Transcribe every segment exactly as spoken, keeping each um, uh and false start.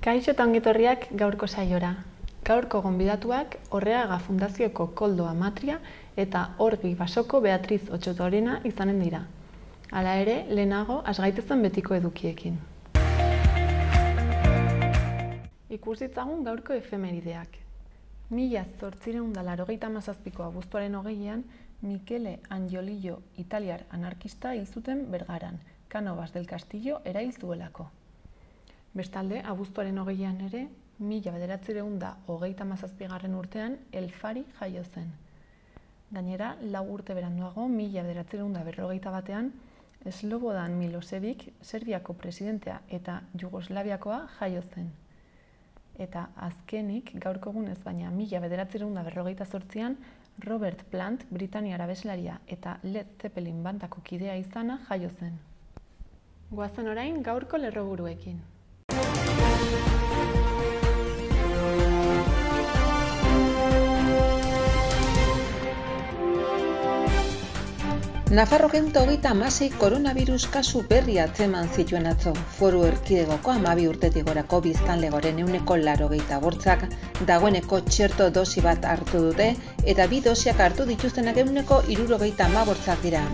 Kaixo eta ongetorriak gaurko saiora. Gaurko gonbidatuak Orreaga Fundazioko Koldo Amatria eta Orgi Basoko Beatriz Otxotorena izanen dira. Hala ere, lehenago hasgaitezen betiko edukiekin. Ikus ditzagun gaurko efemerideak. Mila zortziehun eta laurogeita hamazazpiko abuztuaren hogeian, Michele Angiolillo italiar anarkista hil zuten Bergaran, Cánovas del Castillo erail zuelako. Bestalde, abuztuaren hogeian ere, mila bederatziehun eta hogeita hamazazpigarren urtean Elfari jaio zen. Gainera, lau urte beranduago, mila bederatziehun eta berrogeita batean, Slobodan Milosevic, Serbiako presidentea eta Jugoslaviakoa jaio zen. Eta azkenik, gaurko egunez baina mila bederatziehun eta berrogeita zortzian, Robert Plant, Britaniar abeslaria eta Led Zeppelin bandako kidea izana jaio zen. Goazen orain gaurko lerroburuekin. Nafarroan hogeita hamasei koronavirus kasu berri atzeman zituen atzo. Foru Erkidegoko hamabi urtetik gorako biztanlegoren ehuneko laurogeita bortzak dagoeneko txerto dosi bat hartu dute eta bi dosiak hartu dituztenak ehuneko hirurogeita hamabortzak dira.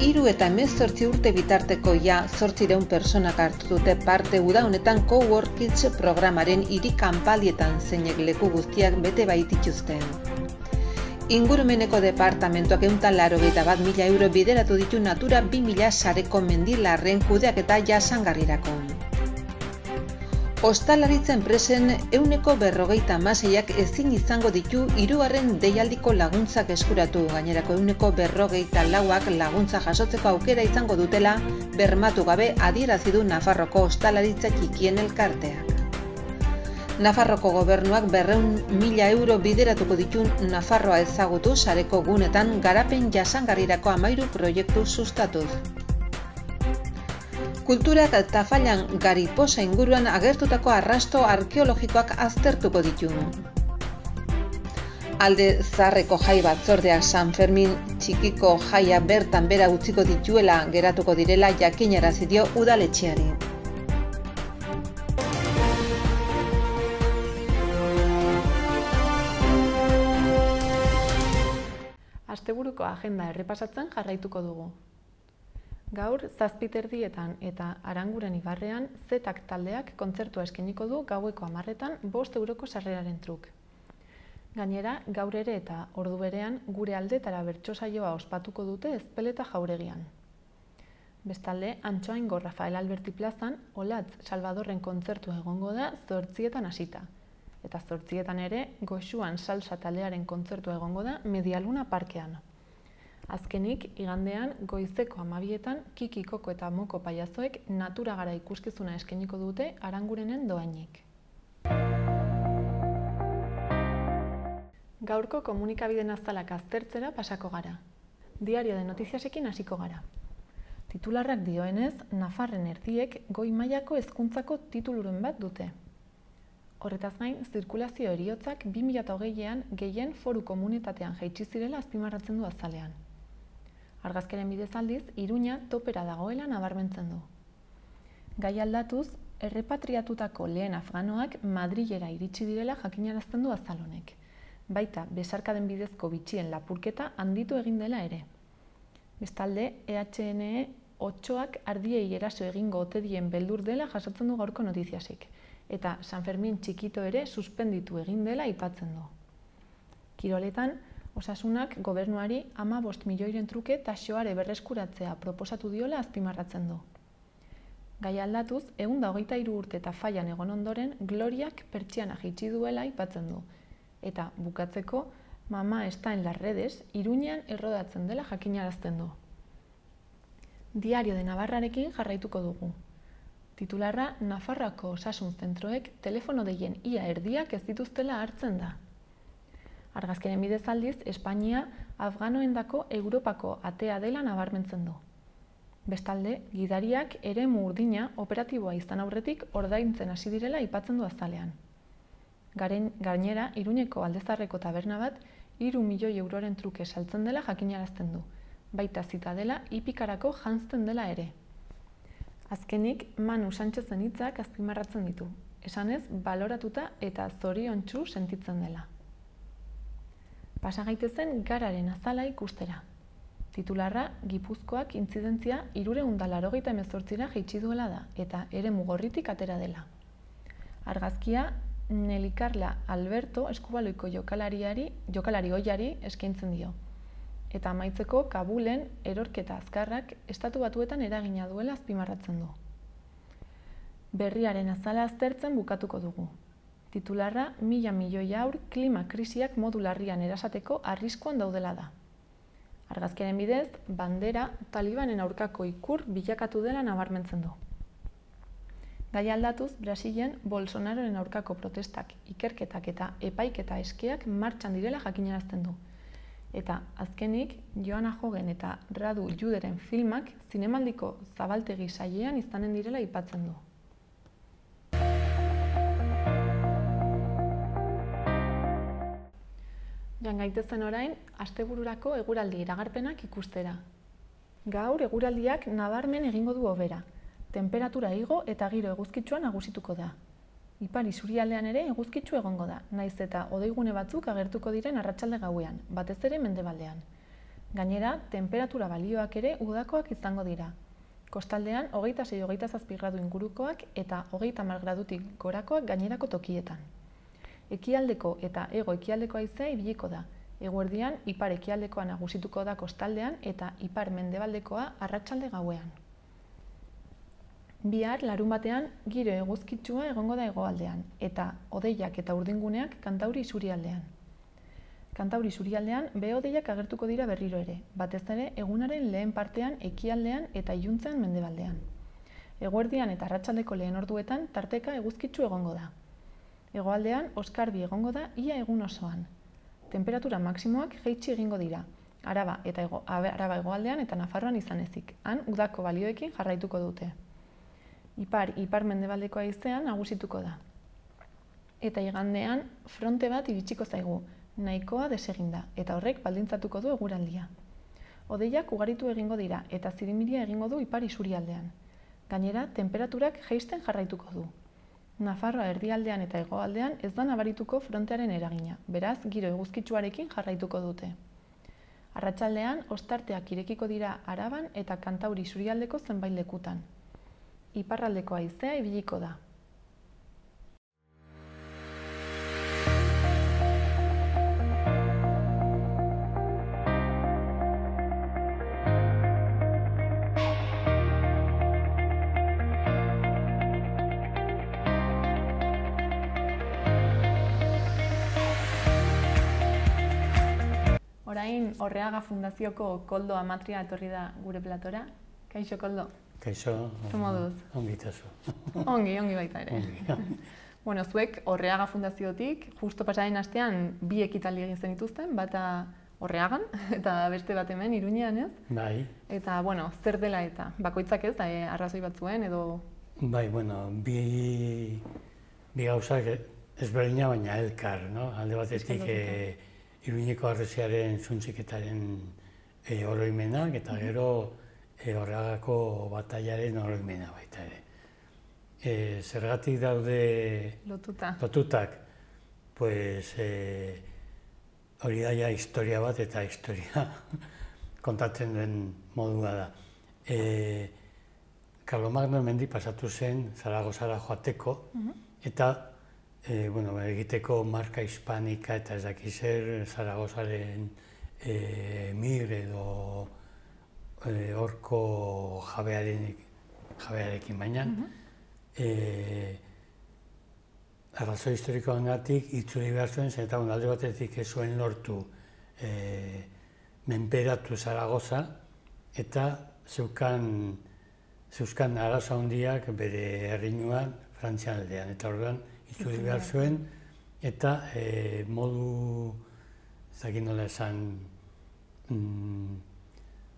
Hiru eta hemezortzi urte bitarteko ja zortziehun pertsonak hartu dute parte uda honetan Cowork Kids programaren hiri kanpaldietan zeinek leku guztiak bete baitituzten. Ingurumeneko departamentuak ehun eta laurogeita bat mila euro bideratu ditu Natura bi mila sareko mendilarren kudeaketa jasangarrirako. Ostalaritza enpresen ehuneko berrogeita hamaseiak ezin izango ditu hirugarren deialdiko laguntzak eskuratu, gainerako ehuneko berrogeita lauak laguntza jasotzeko aukera izango dutela bermatu gabe adierazi du Nafarroko ostalaritza txikien elkarteak. Nafarroko gobernuak berrehun mila euro bideratuko ditu Nafarroa ezagutu sareko gunetan garapen jasangarrirako hamahiru proiektu sustatuz. Kulturak Tafallan Gariposa inguruan agertutako arrasto arkeologikoak aztertuko ditu. Alde Zaharreko jai batzordeak San Fermin txikiko jaia bertan bera utziko dituela geratuko direla jakinarazi dio udaletxeari. Asteburuko agenda errepasatzen jarraituko dugu. Gaur, zazpiterdietan eta Aranguren ibarrean, Zetak taldeak kontzertua eskainiko du gaueko hamarretan bost euroko sarreraren truk. Gainera, gaur ere eta ordu berean, gure aldetara bertso saioa ospatuko dute Ezpeleta jauregian. Bestalde, Antxoaingo Rafael Alberti plazan, Olatz Salvadorren kontzertua egongo da zortzietan hasita. Eta zortzietan ere, Goxuan salsa taldearen kontzertua egongo da Medialuna parkean. Azkenik, igandean, goizeko hamabietan, Kiki, Koko eta Moko paiazoek natura gara ikuskizuna eskainiko dute Arangurenen doainik. Gaurko komunikabideen azalak aztertzera pasako gara. Diario de Notiziasekin hasiko gara. Titularrak dioenez, Nafarren erdiek goi mailako hezkuntzako tituluren bat dute. Horretaz gain, zirkulazio heriotzak bi mila hogeian gehien foru komunitatean jaitsi zirela azpimarratzen du azalean. Argazkaren bidez aldiz, Iruña topera dagoela nabarmentzen du. Gai aldatuz, errepatriatutako lehen afganoak Madrilera iritsi direla jakinarazten du azal honek. Baita, besarkaden bidezko bitxien lapurketa handitu egin dela ere. Bestalde, E H N E otsoak ardiei eraso egingo ote dien beldur dela jasotzen du gaurko notiziasik. Eta San Fermin txikito ere suspenditu egin dela aipatzen du. Kiroletan, Osasunak gobernuari hamabost milioiren truke taxoare berreskuratzea proposatu diola azpimarratzen du. Gai aldatuz, ehun eta hogeita hiru urte eta faian egon ondoren, Gloriak pertsiana jaitsi duela aipatzen du. Eta bukatzeko, Mama está en las redes, Iruñean errodatzen dela jakinarazten du. Diario de Navarrarekin jarraituko dugu. Titularra, Nafarroako osasun zentroek telefono deien ia erdiak ez dituztela hartzen da. Argazkaren bidez aldiz, Espainia afganoendako Europako atea dela nabarmentzen du. Bestalde, gidariak eremu urdina operatiboa izan aurretik ordaintzen hasi direla aipatzen du azalean. Gainera, Iruñeko Aldezarreko taberna bat hiru milioi euroren truke saltzen dela jakinarazten du. Baita zitadela hipikarako janzten dela ere. Azkenik, Manu Sánchezen hitzak azpimarratzen ditu. esanez baloratuta eta zoriontsu sentitzen dela. Pasa gaitezen gararen azala ikustera. Titularra Gipuzkoak intzidentzia hirurehun eta laurogeita hemezortzira jaitsi duela da eta eremu gorritik atera dela. Argazkia Neli Carla Alberto eskubaloiko jokalariari, jokalari ohiari eskaintzen dio. Eta amaitzeko Kabulen erorketa azkarrak Estatu Batuetan eragina duela azpimarratzen du. Berriaren azala aztertzen bukatuko dugu. Titularra mila milioi haur klima krisiak modu larrian erasateko arriskuan daudela da. Argazkiaren bidez, bandera talibanen aurkako ikur bilakatu dela nabarmentzen du. Gai aldatuz, Brasilen Bolsonaroren aurkako protestak, ikerketak eta epaiketa eskeak martxan direla jakinarazten du. Eta azkenik, Joana Jogen eta Radu Juderen filmak zinemaldiko zabaltegi sailean izanen direla aipatzen du. Joan gaitezen orain, astebururako eguraldi iragarpenak ikustera. Gaur eguraldiak nabarmen egingo du hobera. Temperatura igo eta giro eguzkitsua nagusituko da. Ipar isurialdean ere eguzkitsu egongo da, naiz eta hodeigune batzuk agertuko diren arratsalde gauean, batez ere mendebaldean. Gainera, temperatura balioak ere udakoak izango dira. Kostaldean hogeita sei hogeita zazpi gradu ingurukoak eta hogeita hamar gradutik gorakoak gainerako tokietan. Ekialdeko eta hego ekialdeko haizea ibiliko da. Eguerdian ipar ekialdekoa nagusituko da kostaldean eta ipar mendebaldekoa arratsalde gauean. Bihar larun batean giro eguzkitsua egongo da hegoaldean eta hodeiak eta urdinguneak Kantauri isurialdean. Kantauri isurialdean behe-hodeiak agertuko dira berriro ere, batez ere egunaren lehen partean ekialdean eta iluntzean mendebaldean. Eguerdian eta arratsaldeko lehen orduetan tarteka eguzkitsu egongo da. Hegoaldean oskarbi egongo da ia egun osoan. Temperatura maksimoak jaitsi egingo dira, Araba eta ego, Araba hegoaldean eta Nafarroan izan ezik, han udako balioekin jarraituko dute. Ipar, ipar mendebaldeko haizean nagusituko da. Eta igandean fronte bat iritsiko zaigu, nahikoa deseginda, eta horrek baldintzatuko du eguraldia. Hodeiak ugaritu egingo dira eta zirimiria egingo du ipar isurialdean. Gainera, temperaturak jaisten jarraituko du. Nafarroa erdialdean eta hegoaldean ez da nabarituko frontearen eragina, beraz, giro eguzkitsuarekin jarraituko dute. Arratsaldean, ostarteak irekiko dira Araban eta Kantauri isurialdeko zenbait lekutan. Iparraldeko haizea ibiliko da. Orain, Orreaga Fundazioko Koldo Amatria etorri da gure platora. Kaixo, Koldo? Kaixo, ongi itazu. Ongi, ongi baita ere. Bueno, zuek Orreaga Fundaziotik, justo pasaren astean bi ekitaldi egin zenituzten, bata Orreagan eta beste bat hemen Iruñean, ez? Bai. Eta, bueno, zer dela eta bakoitzak ez, da, arrazoi batzuen edo... Bai, bueno, bi, bi gauzak ezberdina baina elkar, no? Alde batetik e, Iruñeko harresiaren zuntxiketaren e, oroimenak eta gero E, Orreagako batailaren oroimena baita ere. E, zergatik daude Lotuta. lotutak, pues, e, hori daia historia bat eta historia kontatzen duen modua da. E, Karlomagno hemendik pasatu zen Zaragozara joateko, eta e, bueno, egiteko marka hispanika eta ez daki zer Zaragozaren e, mir edo horko jabearekin baina, arrazoi historikoangatik itzuli behar zuen, zen eta alde batetik ez zuen lortu menperatu Zaragoza eta zeuzkan arazo handiak bere herrinuan Frantzian aldean, eta orduan itzuli behar zuen eta modu, ez dakit nola esan,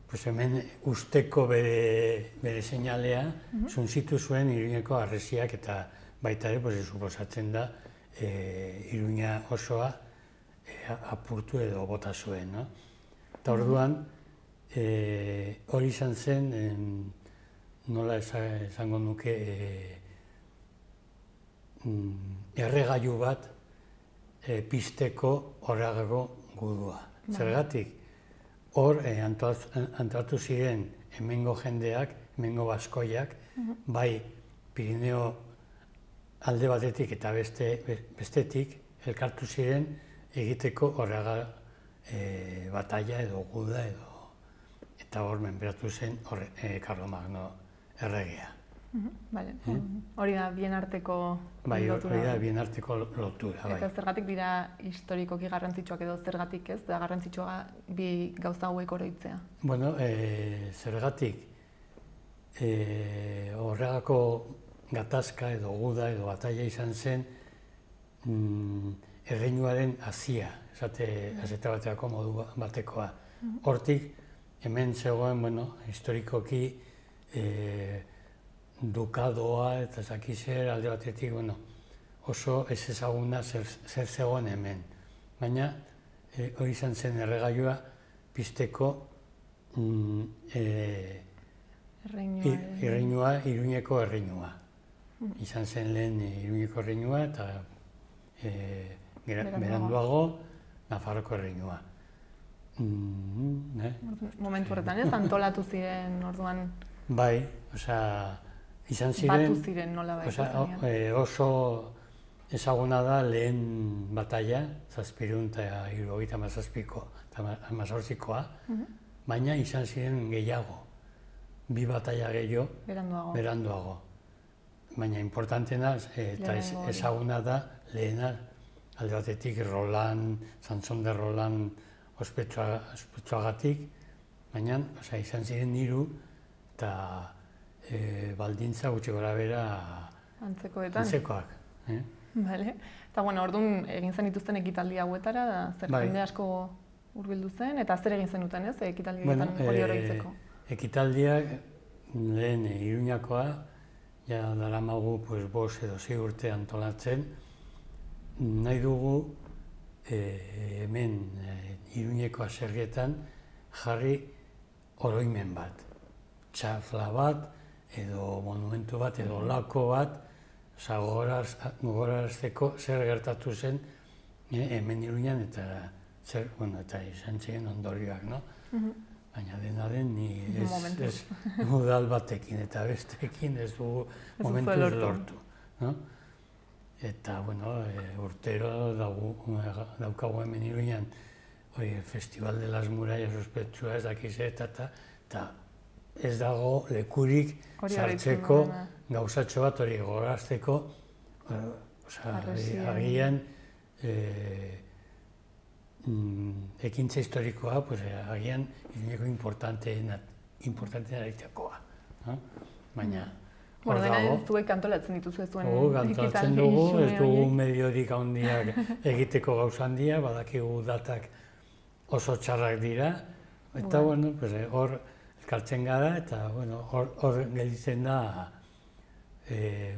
pues hemen usteko bere, bere seinalea zuntzitu zuen Iruñeko harresiak eta baita ere, pues, suposatzen da e, Iruña osoa e, apurtu edo bota zuen, no? Eta orduan, e, hori izan zen, en, nola esango nuke, e, erregailu bat pizteko horregago gudua. Zergatik, hor antolatu ziren hemengo jendeak, hemengo baskoiak, bai Pirineo alde batetik eta bestetik elkartu ziren egiteko horrega batalla edo guda edo eta hor menperatu zen Karlomagno erregea. Hori da bien arteko lotura. Bai, hori da bien arteko lotura. Eta zergatik dira historikoki garrantzitsuak edo zergatik ez, da garrantzitsua bi gauza hauek oroitzea? Bueno, zergatik horregako gatazka edo guda edo batalla izan zen erreinuaren hazia, esate bateako modu batekoa. Hortik, hemen zegoen, bueno, historikoki dukadoa eta zakizer alde batetik, bueno, oso ez ezaguna zer zegoen hemen. Baina, hori izan zen erregailua pizteko erreinua, Iruñeko erreinua. Izan zen lehen Iruñeko erreinua eta beranduago Nafarroko erreinua. Momentu horretan ez, antolatu ziren orduan? Bai, osea, izan ziren... Batu ziren nola bai? Oso ezaguna da lehen batalla, zazpirun eta hirurogeita hamazazpiko eta hamazortzikoa, baina izan ziren gehiago, bi batalla gehiago beranduago. Baina importantena eta ezaguna da lehena alde batetik Roland, Sanson de Roland ospetsuagatik, baina izan ziren hiru eta baldintza gutxi gora bera antzekoak. Eta orduan egin zen dituzten ekitaldi hauetara, zer jende asko hurbildu zen, eta zer egin zenuten ez, ekitaldi hori oroitzeko? Ekitaldiak lehen Iruñakoa, ja daramagu bost edo sei urte antolatzen, nahi dugu hemen Iruñeko aserrietan jarri oroimen bat. Txafla bat, edo monumentu bat, edo lako bat, gogorarazteko zer gertatu zen hemen Iruñan eta izan ziren ondorioak, no? Baina dena den, ez udal batekin eta bestekin ez dugu momentuz lortu. Eta, bueno, urtero daukagu hemen Iruñan Festival de las Murallas ospetsua ez dakiz eta ez dago lekurik sartzeko gauzatxo bat hori gogorazteko, agian ekintza historikoa, agian Iruñeko importanteena egitekoa. Baina, hor dago... Zuek antolatzen dituzu ez zuen antolatzen dugu, ez dugu mediorik handiak egiteko gauza handia, badakigu datak oso txarrak dira, eta hor elkartzen gara, eta hor gelditzen da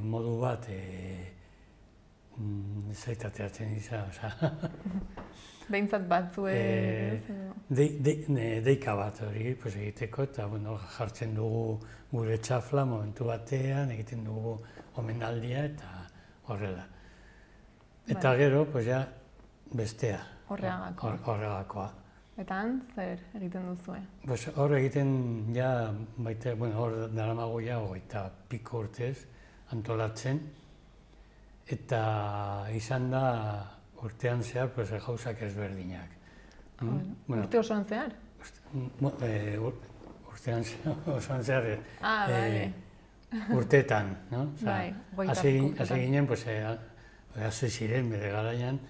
modu bat zaitateatzen izan, behintzat batzue... Deika bat hori egiteko, eta jartzen dugu gure txafla momentu batean, egiten dugu omenaldia eta horrela. Eta gero, ja, bestea. Horregakoa. Eta han, zer egiten duzue? Hor egiten, ja, baita, hor daramago ja, hogeita piko urtez antolatzen, eta izan da urtean zehar gauzak ezberdinak. Urte osoan zehar? Urtean osoan zehar, urteetan. Hasi ginen, hasi ziren bere garaian,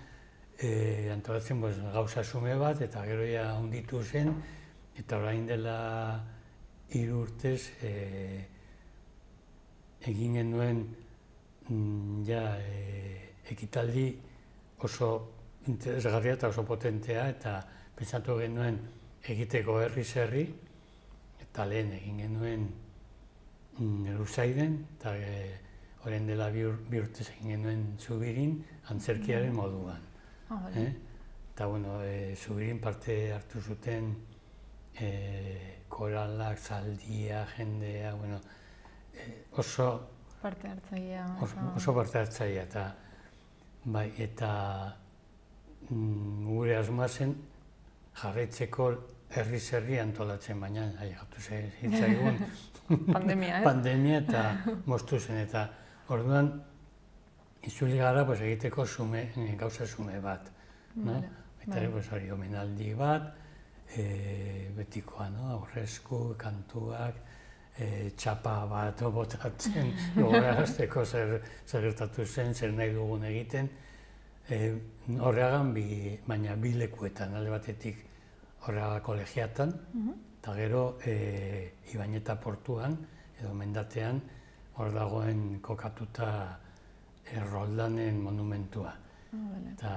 antolatzen gauza sume bat, eta gero ja hunditu zen, eta orain dela hiru urtez egin genuen ekitaldi oso interesgarria eta oso potentea, eta pentsatu genuen egiteko herriz herri, eta lehen egin genuen Luzaiden, eta orain dela bi urtez egin genuen Zubirin, antzerkiaren moduan. Eta, bueno, Zubirin parte hartu zuten koralak, zaldia, jendea, bueno, oso Parte hartzailea. Oso parte hartzailea, eta bai, eta gure asmoa zen jarraitzeko herriz herri antolatzen, baina ailegatu zitzaigun pandemia, ez? Pandemia eta moztu zen, eta orduan itzuli gara egiteko gauza zume bat. Eta ere, hori, omenaldi bat, betikoa, aurrezku, kantuak, txapa bat botatzen, gogorarazteko zer gertatu zen, zer nahi dugun egiten. Horreagan, baina bi lekuetan, alde batetik Horreaga kolegiatan, eta gero Ibañeta portuan, edo mendatean, hor dagoen kokatuta Roldanen monumentua. Eta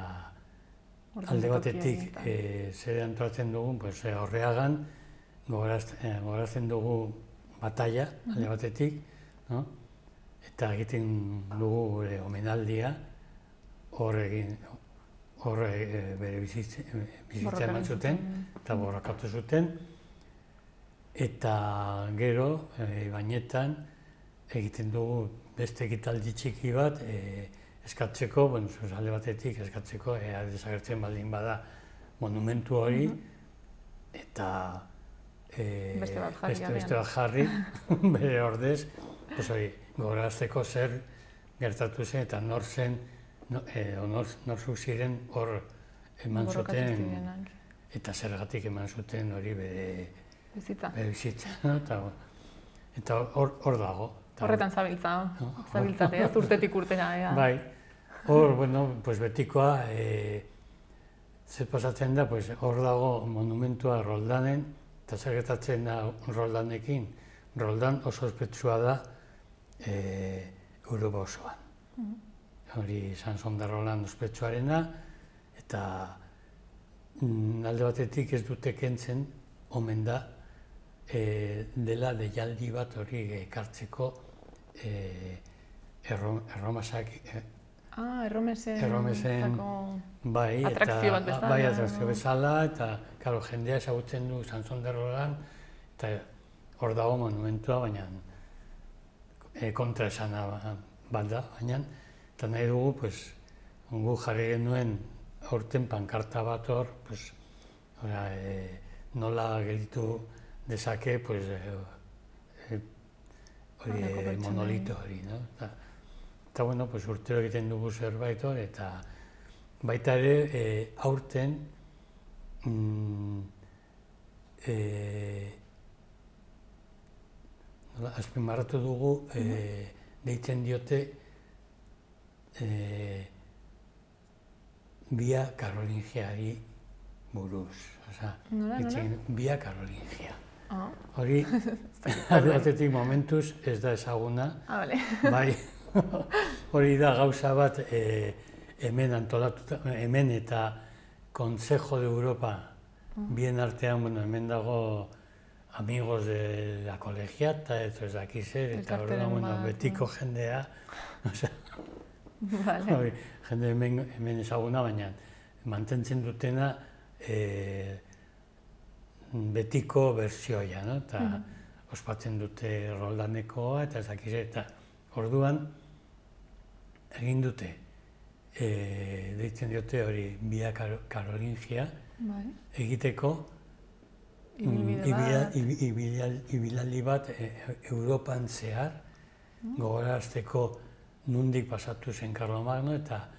alde batetik zer antolatzen dugun, Horreagan gogorazten dugu batalla, alde batetik, eta egiten dugu gure omenaldia, hor egin, hor bere bizitza eman zuten, eta borrokatu zuten, eta gero, Ibañetan, egiten dugu beste ekitaldi txiki bat, eskatzeko, alde batetik eskatzeko, ea desagertzen baldin bada monumentu hori, eta beste bat jarri, bere ordez, gogorazteko zer gertatu zen, eta nor zen, norzuk ziren hor eman zuten, eta zergatik eman zuten hori bere bizitza. Eta hor dago. Horretan zabiltza, zabiltzate, ez urtetik urtera. Bai, hor, bueno, betikoa, zer pasatzen da, hor dago monumentua Roldanen, eta zer gertatzen da Roldanekin, Roldan oso ospetsua da Europa osoan. Hori Sanson de Roland ospetsuarena, eta alde batetik ez dute kentzen, omen da, dela deialdi bat hori ekartzeko erromasak... Ah, erromesen atrakzio bat bezala. Bai, atrakzio bezala, eta jendea ezagutzen du Sanson de Roland, eta hor dago monumentua, baina kontra esana bat da, baina eta nahi dugu, gu jarri genuen aurten pankarta bat hor, nola gelditu dezake monolito hori. Eta, bueno, urtero egiten dugu zerbait hor, eta baita ere aurten azpimarratu dugu, deitzen diote Via Carolingiari buruz. Via Carolingia. Hori, aldeatetik momentuz ez da ezaguna. Bai, hori da gauza bat hemen antolatuta, hemen eta Consejo de Europa bien artean, bueno, hemen dago amigos de la colegiata, eta ez dakiz zer, eta horrela betiko jendea, jende hemen ezaguna, baina mantentzen dutena betiko bertsioia, eta ospatzen dute Roldanekoa, eta ez dakiz zer, eta orduan egin dute, deitzen diote hori Via Carolingia, egiteko ibilaldi bat Europan zehar, gogorazteko nundik pasatu zen Karlomagno, eta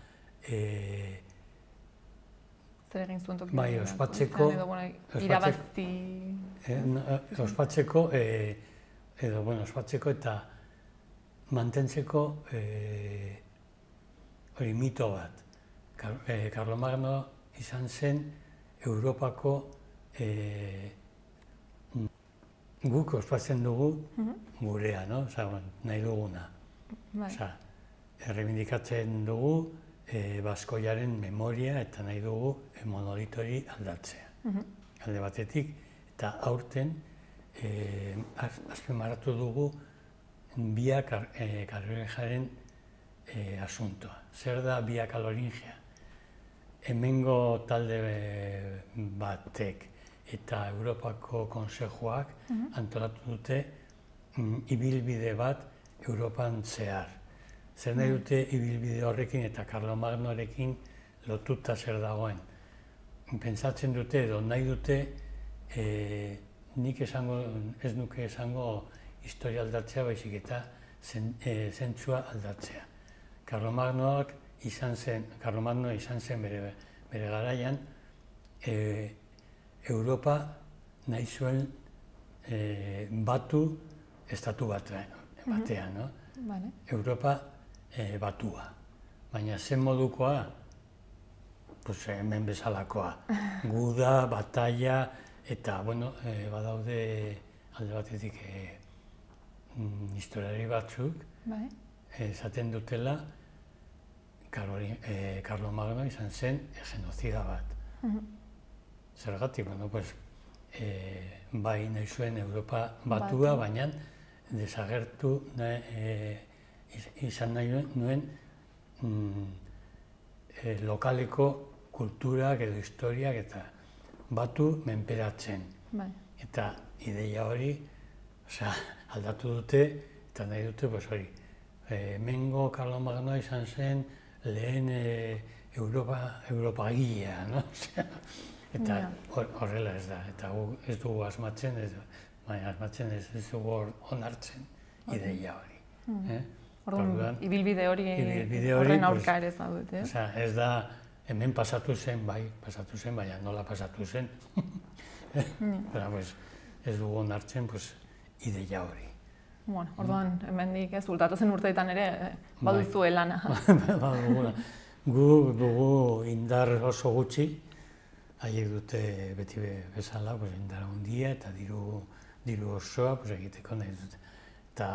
zer egin zuen toki? Bai, ospatzeko, ospatzeko, edo, bueno, ospatzeko eta mantentzeko hori mito bat. Karlomagno izan zen Europako guk ospatzen dugu gurea, nahi duguna. Errebindikatzen dugu baskoiaren memoria eta nahi dugu monolitori aldatzea. Alde batetik, eta aurten azpimarratu dugu Via Carolingiaren asuntoa. Zer da Via Carolingia? Hemengo talde batek eta Europako Konsejoak antolatu dute ibilbide bat Europan zehar. Zer nahi dute ibilbide horrekin eta Karlomagnorekin lotuta zer dagoen. Pentsatzen dute edo nahi dute e, nik esango, ez nuke esango historia aldatzea, baizik eta zen, e, zentzua aldatzea. Karlomagnoak izan zen, Karlomagno izan zen bere, bere garaian, e, Europa nahi zuen e, batu estatu batean, batean no? Vale. Europa e, batua. Baina zen modukoa, pues, hemen bezalakoa. Guda, batalla, eta, bueno, e, badaude alde batetik e, mm, historiari batzuk, Bai. esaten dutela, Karlomagno izan zen genozida bat. Mhm. Zergatik, bueno, pues, e, bai nahi zuen Europa batua, Batu. baina desagertu nahi, e, izan nahi nuen mm, e, lokaleko kulturak edo historiak eta batu menperatzen. Bai. Eta ideia hori, osea, aldatu dute eta nahi dute, pues, hori, e, Hemengo Karlomagnoa izan zen lehen e, Europa, Europa gilea, no? Eta Ja. hor- horrela ez da, eta gu ez dugu asmatzen, ez, baina asmatzen ez, ez dugu hor- onartzen ideia hori. Eh? Orduan, Orduan, ibilbide hori ibilbide hori, horren pues, aurka ere zaudete, ez? Osea, ez da, hemen pasatu zen, bai, pasatu zen, baina nola pasatu zen. Pero, pues, ez dugu onartzen, pues, ideia hori. Bueno, orduan, hemendik ez, ultatozen urteetan ere, eh, baduzue lana. Badugula. Gu dugu indar oso gutxi, haiek dute beti be- bezala, pues, indar handia eta diru, diru osoa, pues, egiteko nahi dute. Eta,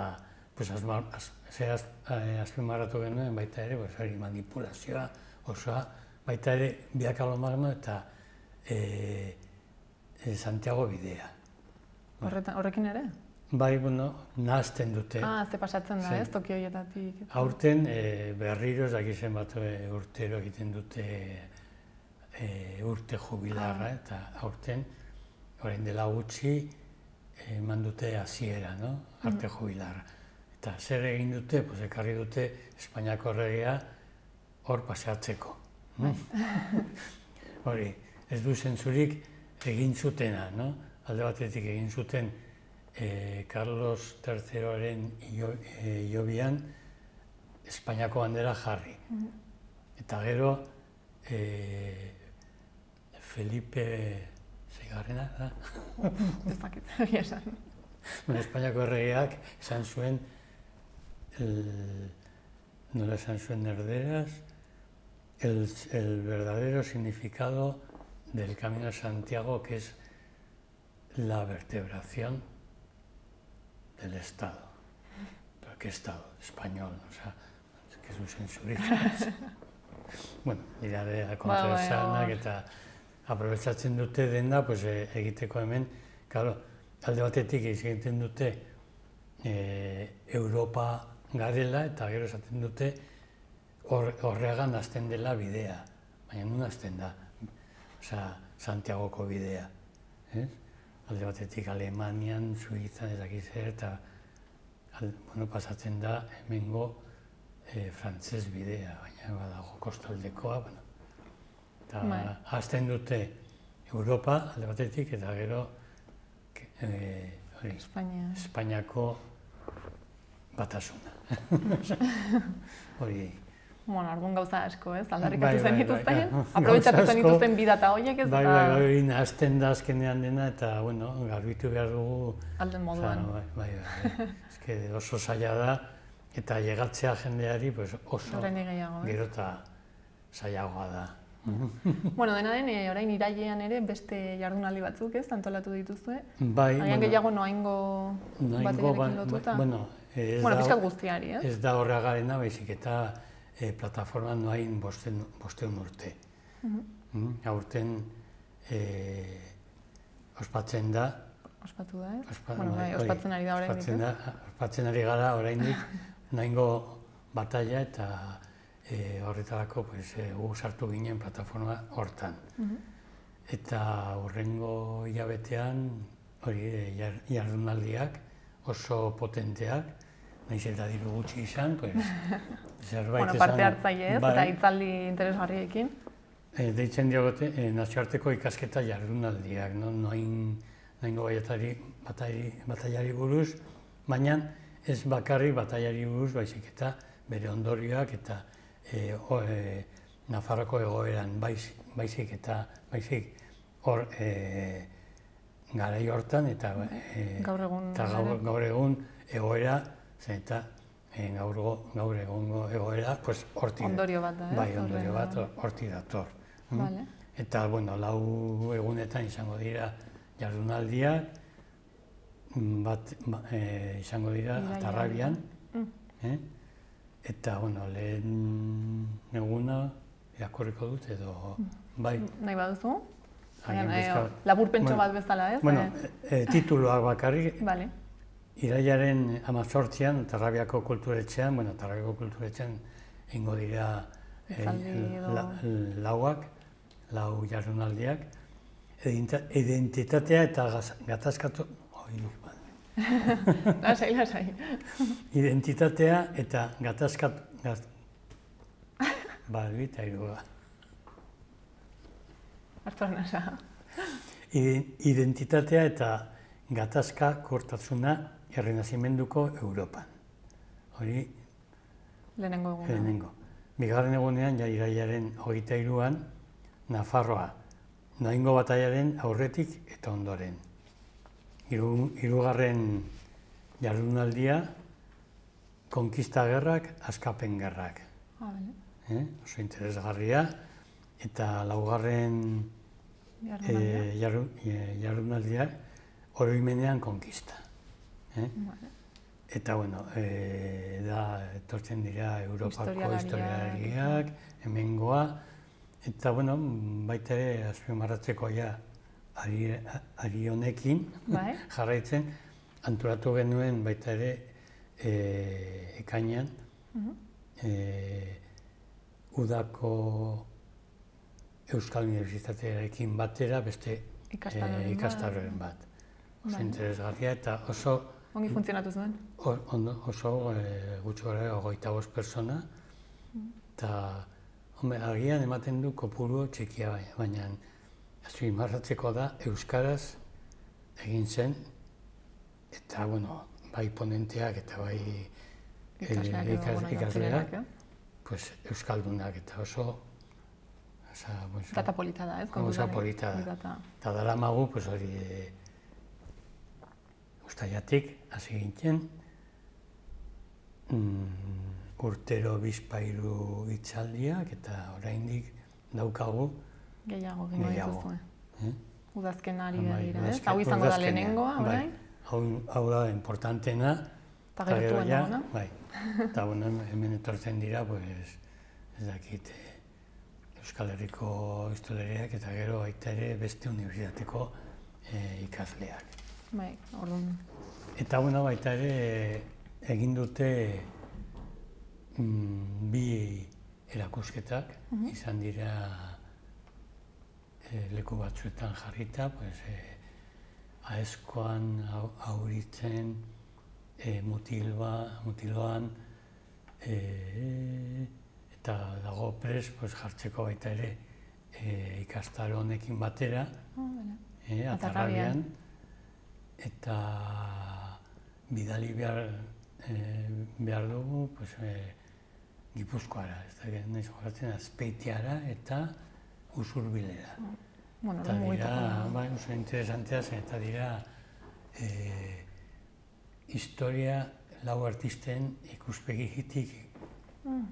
pues, azma- az, ze az, eh, azpimarratu genuen baita ere, pues, hori manipulazioa osoa, baita ere Via Carlomagno eta eh, eh, Santiago bidea. Horretan, horrekin ere? Bai, bueno, nahazten dute. Ah, ze pasatzen da, Zen. ez, Tokio hietatik. Aurten e, berriro ez dakit zenbat e, urtero egiten dute e, urte jubilarra, Ah. eta aurten, orain dela gutxi, eman dute hasiera, no? Arte jubilarra. Eta zer egin dute, pues, ekarri dute Espainiako erregea hor paseatzeko. no? Hori, ez du zentzurik egin zutena, no? Alde batetik egin zuten eh, Carlos terzeroaren hilo- eh, hilobian Espainiako bandera jarri. Eta gero eh, Felipe seigarrena da? Ez dakit, egia esan. Bueno, Espainiako erregeak esan zuen, el, nola esan zuen erderaz, el, el verdadero significado del Camino de Santiago, que es la vertebración del Estado. ¿Pero qué Estado? Español, o sea, es que es un censurista. Bueno, dira de kontraesanak bai, eta aprobetsatzen dute denda, pues, e, egiteko hemen, claro, alde batetik egiten dute e, Europa garela eta gero esaten dute hor, horregan hasten dela bidea, baina nun hasten da, osea, Santiagoko bidea, ez? Alde batetik Alemanian, Suizan, ez dakit zer, eta al, bueno, pasatzen da hemengo e, frantses bidea, baina badago kostaldekoa, bueno. Eta Bai. hasten dute Europa alde batetik eta gero e, hori, Espainia. Espainiako batasuna. Hori. Bueno, orduan gauza asko, ez? Bai, Aldarrikatu zen zen bai, dituzten, bai, bai. aprobetxatu Gauza zen asko. dituzten bidata horiek, ez? Bai, eta bai, hori nahazten da azkenean dena eta, bueno, garbitu behar dugu. alden moduan. Bai, bai, bai. Ez que oso zaila da eta llegatzea jendeari, pues, oso Oraindik gehiago, ez? gero eta zailagoa da. Bueno, dena den, eh, orain irailean ere beste jardunaldi batzuk, ez? Antolatu dituzue. Bai, Agian gehiago noaingo Noaingo, batearekin ba- lotuta. bueno, ez Bueno, da- pixkat guztiari, ez? Ez da horregarena, baizik eta e, plataforma noain bosten, bosteun urte. Mm, aurten e, ospatzen da, Ospatu da, ez? ospa- Bueno, bai, hori, ospatzen ari da oraindik, ospatzen ez? da, ospatzen ari gara oraindik noaingo batalla eta e, horretarako, pues, e, gu sartu ginen plataforma hortan. Eta hurrengo hilabetean hori e, jar- jardunaldiak oso potenteak, nahiz eta diru gutxi izan, pues, zerbait bueno, esan... parte hartzaile ez, bai, eta hitzaldi interesgarriekin. E, deitzen diogote, e, nazioarteko ikasketa jardunaldiak, no? Noain, noingo baiatari, batari, bataiari buruz, baina ez bakarrik bataiari buruz, baizik eta bere ondorioak eta e, o, e, Nafarroko egoeran baiz, baizik eta baizik hor e, garai hortan eta, e, gaur egun, eta gaur, gaur egun egoera, zen eta e, gaur, gaur egungo egoera, pues, hortik, ondorio bat da, ez? bai, ondorio bat hortik dator. Vale. Eta, bueno, lau egunetan izango dira jardunaldiak, bat ba, e, izango dira Atarrabian, mm. eh? Eta, bueno, lehen eguna irakurriko dut edo, bai. Nahi baduzu? Agian Eh, bizka- Laburpentso Bueno, bat bezala, ez? Bueno, Eh, e, tituluak bakarrik, Vale. irailaren hamazortzian, Tarrabiako kulturetxean, bueno, Tarrabiako kulturetxean ingo dira e, Hitzaldi edo- la, lauak, lau jardunaldiak, Edinta- identitatea eta gaz- gatazkatu... Oi, bale. Lasai, lasai. Identitatea eta gatazkatu... Gaz... Balbi eta iruga. Artur nasa. Identitatea eta gatazka kortasuna errenazimenduko Europan. Hori Lehenengo eguna. lehenengo. Bigarren egunean, ja irailaren hogeita hiruan, Nafarroa, noaingo bataiaren aurretik eta ondoren. Hiru, hirugarren jardunaldia, konkista gerrak, askapen gerrak. Ah, vale. Eh? Oso interesgarria. Eta laugarren Jardunaldia. e, jarru, e, jardunaldiak, oroimenean konkista. Eh? Vale. Eta, bueno, e, da, etortzen dira Europako Historialariak. historialariak, hemengoa, eta, bueno, baita ere, azpimarratzeko ja, ari, ari honekin, Bai. jarraitzen, antolatu genuen baita ere, e, ekainean, Mhm. e, udako Euskal Unibertsitatearekin batera beste Ikastaroren e, bat. ikastaroren bat. Oso Bai. interesgarria eta oso Ongi funtzionatu zuen? O- ondo- oso e, gutxi gara hogeita bost persona, eta agian ematen du kopuru txikia bai, baina azpimarratzeko da euskaraz egin zen, eta bueno, bai ponenteak eta bai e, Ikasleak edo, ikas- bueno, ikasleak, gaztelerak, eh? pues, euskaldunak eta oso oza, pues, Data polita da, ez? oso kontutan, eh? polita da. Data. Eta daramagu, pues, hori e, ustaiatik hasi gintzen, mm, urtero bizpairu hitzaldiak eta oraindik daukagu Gehiago gingo gehiago. dituzue. Eh? Udazken ari Bai, begira, ez? udazken- Hau izango da udazkenean, lehenengoa, bai. orain? Hau, hau da importantena. Eta eta gero gertuen ja, dagoena. bai. Eta bueno, hemen etortzen dira, pues, ez dakit, eh, Euskal Herriko historialariak eta gero baita ere beste unibertsitateko eh, ikasleak. Bai, orduan. Eta bueno, baita ere egin dute mm, bi erakusketak, izan dira e, leku batzuetan jarrita, pues, e, aezkoan, au- auritzen, e, mutilba, mutiloan, e, eta dago pres pues, jartzeko baita ere e, ikastaro honekin batera, Ah, vale. e, Atarrabian. Atarrabian, eta bidali behar, e, behar dugu pues, e, Gipuzkoara, ez da, nahiz jokatzen Azpeitiara eta Usurbilera. Bueno, Eta orduan dira, mugituko. bai, oso interesantea zen, eta dira e, historia lau artisten ikuspegitik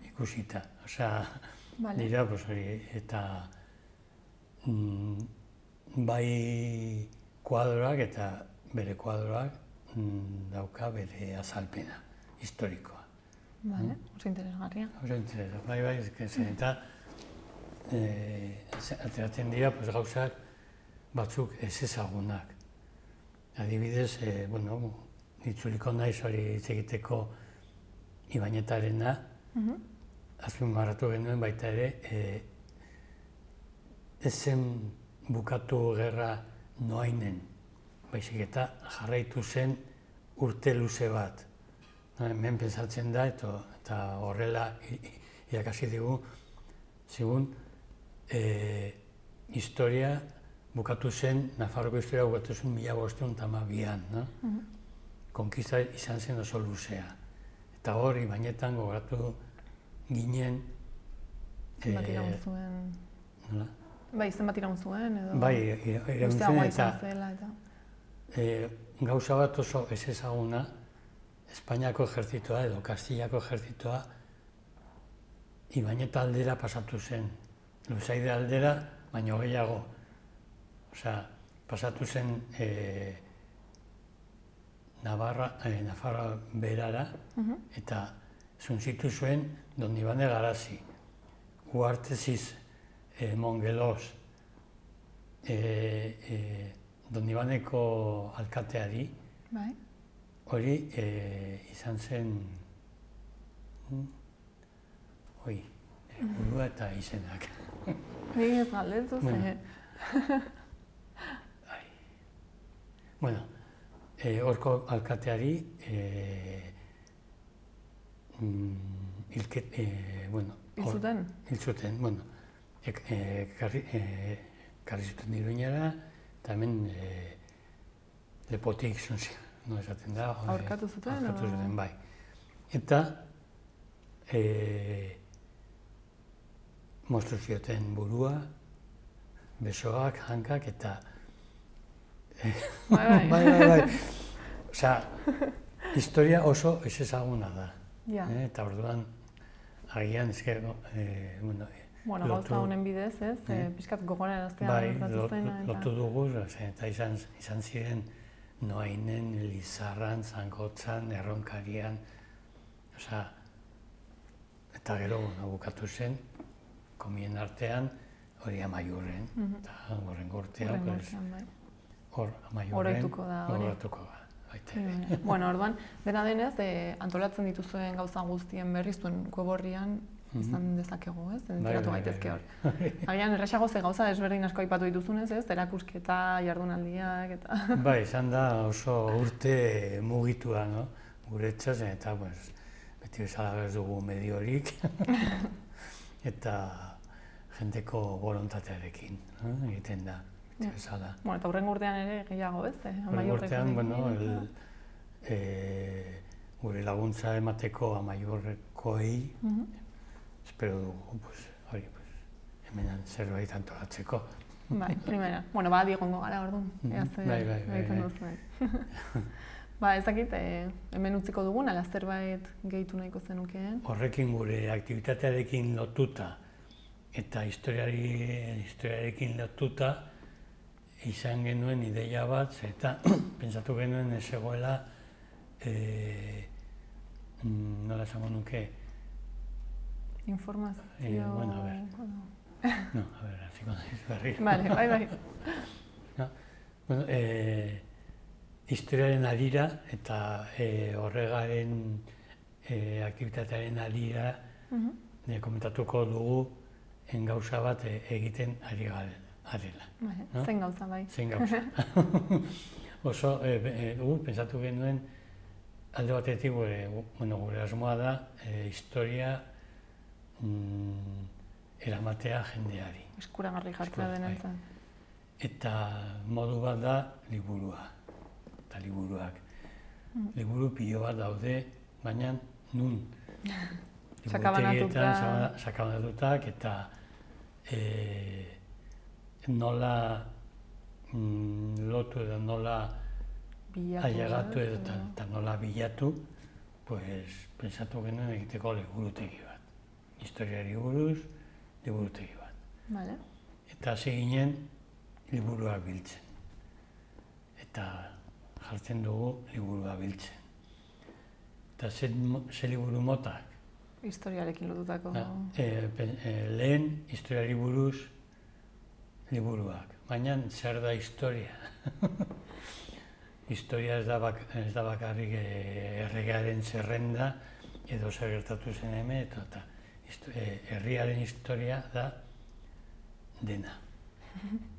ikusita. Osea, Vale. dira, pues, hori, eta mm, bai kuadroak eta bere kuadroak mm, dauka bere azalpena historikoa. Vale, oso interesgarria. Oso interesa, bai, bai, ez que zen, eta eh, ze- ateratzen dira pues, gauzak batzuk ez ezagunak. Adibidez, eh, bueno, itzuliko naiz hori hitz egiteko Ibainetarena, Mhm. azpimarratu genuen baita ere, eh, ez zen bukatu gerra noainen, baizik eta jarraitu zen urte luze bat. hemen pensatzen da, eta horrela irakasi digu, zigun, historia bukatu zen, Nafarroko historia bukatu zen mila bostehun eta hamabian. Konkista izan zen oso luzea. Eta hor, Ibainetan gogatu ginen... Zenbat iraun zuen... Nola? Bai, zenbat iraun zuen, edo... Bai, iraun zuen, eta... Gauza bat oso ez ezaguna, Espainiako ejertzitoa edo Kastillako ejertzitoa Ibaineta aldera pasatu zen. Luzaide aldera, baino gehiago. Osea, pasatu zen Nafarra berara, eta zuntzitu zuen Donibane Garazi, Uarteziz, Mongelos, Donibaneko alkateari, hori izan zen, hoi, burua eta izenak. Ni ez galdetu, ze... Bueno, horko alkateari hilzuten? Hilzuten, bueno, karri zuten Iruñera, eta hemen lepotik zuntzien, no esaten da. Aurkatu zuten? Aurkatu zuten, bai. Eta mostru zioten burua, besoak, hankak, eta Bai, bai. Bai, bai, bai. Osea, historia oso ez ezaguna da. Eta orduan, agian, ezker, bueno... Bueno, gauza honen bidez, ez? Piskat gogora eraztea gertatu zen. Bai, lotu dugu, eta izan ziren Noainen, Lizarran, Zangotzan, Erronkarian, osea, eta gero bukatu zen, komien artean, hori Amaiurren, eta horren gortean, hor Amaiurren, horretuko da, hori. Horretuko da, baita ere. Bueno, orduan, dena denez, antolatzen dituzuen gauza guztien berri zuen web-orrian izan dezakegu, ez? Enteratu gaitezke hor. Agian, erraxago ze gauza desberdin asko aipatu dituzunez, ez? Erakusketa, jardunaldiak, eta... Bai, izan da oso urte mugitua, no? Guretzat, eta, pues, beti bezala ez dugu mediorik, eta jendeko bolontatearekin egiten da, beti bezala. Bueno, eta hurrengo urtean ere gehiago, ez? Hurrengo urtean, bueno, gure laguntza emateko Amaiurrekoei, espero dugu, hori, hemen zerbait antolatzeko. Bai, primera. Bueno, ba, digongo gara, orduan. Bai, bai, bai. Ba, ezakit, hemen utziko dugun, ala zerbait gehitu nahiko zenukeen? Horrekin gure aktibitatearekin lotuta eta historiarekin lotuta izan genuen ideia bat, eta pentsatu genuen ez egoela, nola esango nuke, informazio... Bueno, a ver. No, a ver, hasiko naiz berriro. Vale, bai, bai. Bueno, historiaren harira eta horregaren aktibitatearen harira komentatuko dugu gauza bat egiten ari garela. Zein gauza, bai. Zein gauza. Oso, pentsatu genuen, alde batetik gure asmoa da, historia eramatea jendeari. Eskuragarri jartzea denentzat. Eta modu bat da liburua, eta liburuak. Liburu pilo bat daude, baina nun. Sakabanatutak. Sakabanatutak, eta nola lotu edo nola ailegatu edo eta nola bilatu, pentsatu genuen egiteko liburutegi bat. Historiari buruz, liburutegi bat. Eta hasi ginen liburuak biltzen. Eta jartzen dugu liburua biltzen. Eta ze liburu motak? Historiarekin lotutako. Lehen, historiari buruz liburuak. Baina zer da historia? Historia ez da bakarrik erregearen zerrenda edo zer gertatu zen hemen, eta herriaren historia da dena.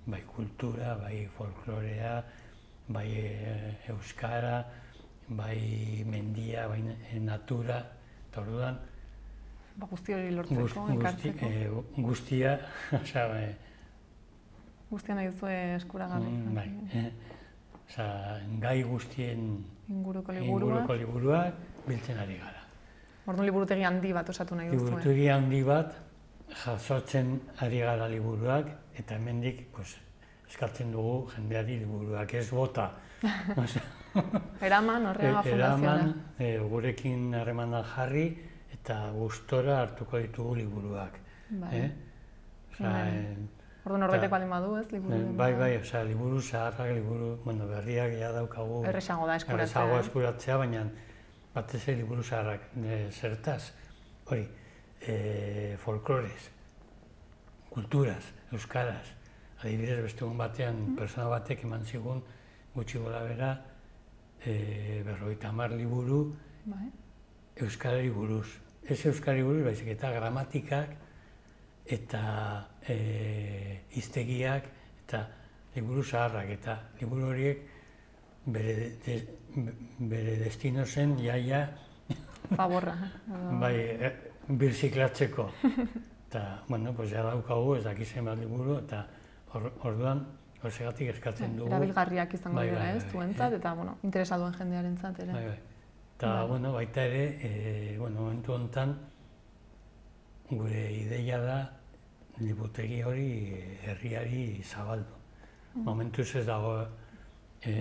Bai kultura, bai folklorea, bai euskara, bai mendia, bai natura, eta orduan, Ba, guzti hori lortzeko, ekartzeko. Guzti, guztia, oza, e, guztia nahi duzue eskuragarri. Mm, bai, eh, oza, gai guztien inguruko liburuak. inguruko liburuak biltzen ari gara. Orduan liburutegi handi bat osatu nahi duzue. Liburutegi handi bat jasotzen ari gara liburuak, eta hemendik pues, eskatzen dugu jendeari liburuak ez bota. Eraman, horrega fundazioa. Eraman, e, gurekin harremanak jarri, eta gustora hartuko ditugu liburuak. Bai. Eh? Osa, bai. Orduan norbaitek baldin badu, ez, liburu? Bai, bai, oza, liburu zaharrak, liburu, bueno, berriak ja daukagu. Erresago da eskuratzea. Erresago eskuratzea, baina batez ere liburu zaharrak. E, zertaz, hori, e, folklorez, kulturaz, euskaraz. Adibidez, beste egun batean, mm. persona batek eman zigun, gutxi gola bera, e, berrogeita hamar liburu, bai. Euskarari buruz. Ez Euskarari buruz, baizik eta gramatikak, eta e, hiztegiak, eta liburu zaharrak, eta liburu horiek bere, de, bere destino zen jaia favorra. bai, e, birziklatzeko. Eta, bueno, pues ja daukagu, ez dakizen bat liburu, eta or, orduan, horregatik eskatzen dugu. Erabilgarriak izango bai, dira, bai, ez, bai, zuentzat, bai. eta, bueno, interesa duen jendearentzat ere. Bai, bai. Eta, bai. bueno, baita ere, e, bueno, momentu honetan, gure ideia da liburutegi hori herriari zabaldu. Mm. Momentuz ez dago e,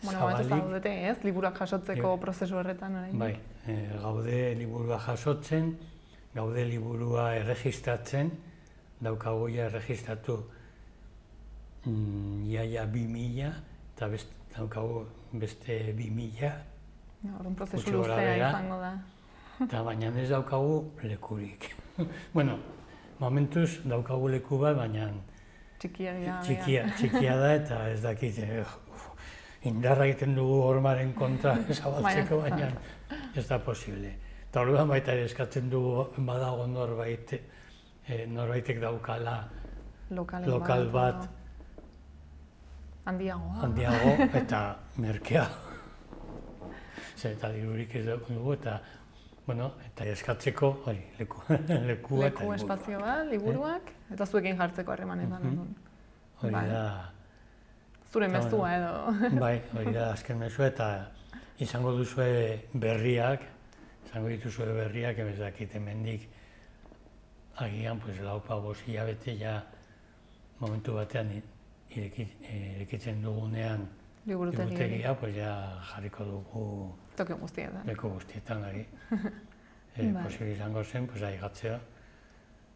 bueno, zabalik. Bueno, zaudete, ez? Liburuak jasotzeko e, prozesu horretan, orain. Bai, e, gaude liburua jasotzen, gaude liburua erregistratzen, daukagu ja erregistratu mm, iaia bi mila, eta best, daukagu beste bi mila. Orduan prozesu luzea izango da. Eta baina ez daukagu lekurik. Bueno, momentuz daukagu leku bat, baina txikia, dira, txikia, txikia da eta ez dakit uf, indarra egiten dugu hormaren kontra zabaltzeko, baina ez da posible. Eta orduan baita ere eskatzen dugu badago norbait, eh, norbaitek daukala lokal, lokal bat, bat handiago, handiago eta merkea. Eta libururik ez dugu, eta, bueno, eta eskatzeko, hori, leku, lekua eta leku espazio bat, liburuak, eh? Eta zuekin jartzeko harremanetan. Mm -hmm. Hori bai. da... Zure mezua edo. Bai, hori da azken mezua, eta izango duzue berriak, izango dituzue berriak, ez dakit hemendik agian, pues, laupa bost hilabete ja momentu batean irekitzen dugunean liburutegia, pues ja jarriko dugu toki guztietan. Leku guztietan, ari. e, bai. Posible izango zen, pues, aigatzea.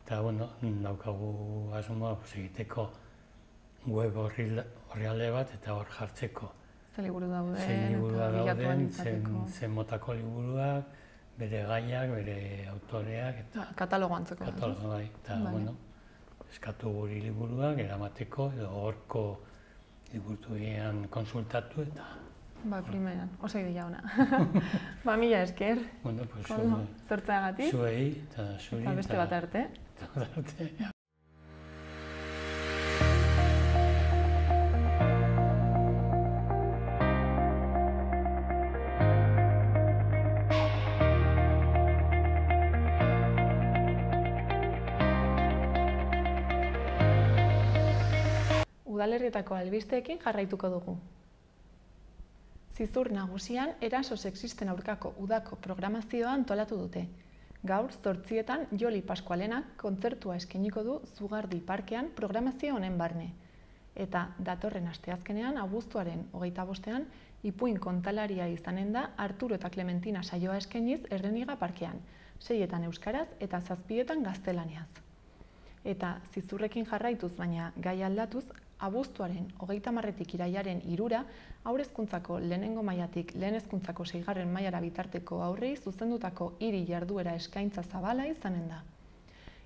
Eta, bueno, daukagu asmoa pues, egiteko web orrialde bat eta hor jartzeko. Ze liburu dauden, zen liburu eta dauden, zen, zen motako liburuak, bere gaiak, bere autoreak, eta... Ba, katalogo antzeko. Katalogo, bai. Eta, bai. Bueno, eskatu guri liburuak, eramateko, edo horko liburutegian konsultatu, eta... Ba, primeran, oso ideia ona. Ba, mila esker. Bueno, pues... Zortzeagatik. Zuei, eta zuri, eta... beste bat arte. Eta bat arte. Udalerrietako albisteekin jarraituko dugu. Zizur nagusian eraso sexisten aurkako udako programazioa antolatu dute. Gaur, zortzietan, Joli Paskualenak kontzertua eskainiko du Zugardi Parkean programazio honen barne. Eta datorren asteazkenean, abuztuaren hogeita bostean, ipuin kontalaria izanen da Arturo eta Clementina saioa eskainiz Erreniga Parkean, seietan euskaraz eta zazpietan gaztelaniaz. Eta zizurrekin jarraituz, baina gai aldatuz, abuztuaren hogeita hamarretik irailaren hirura, haur hezkuntzako lehenengo mailatik lehen hezkuntzako seigarren mailara bitarteko haurrei zuzendutako hiri jarduera eskaintza zabala izanen da.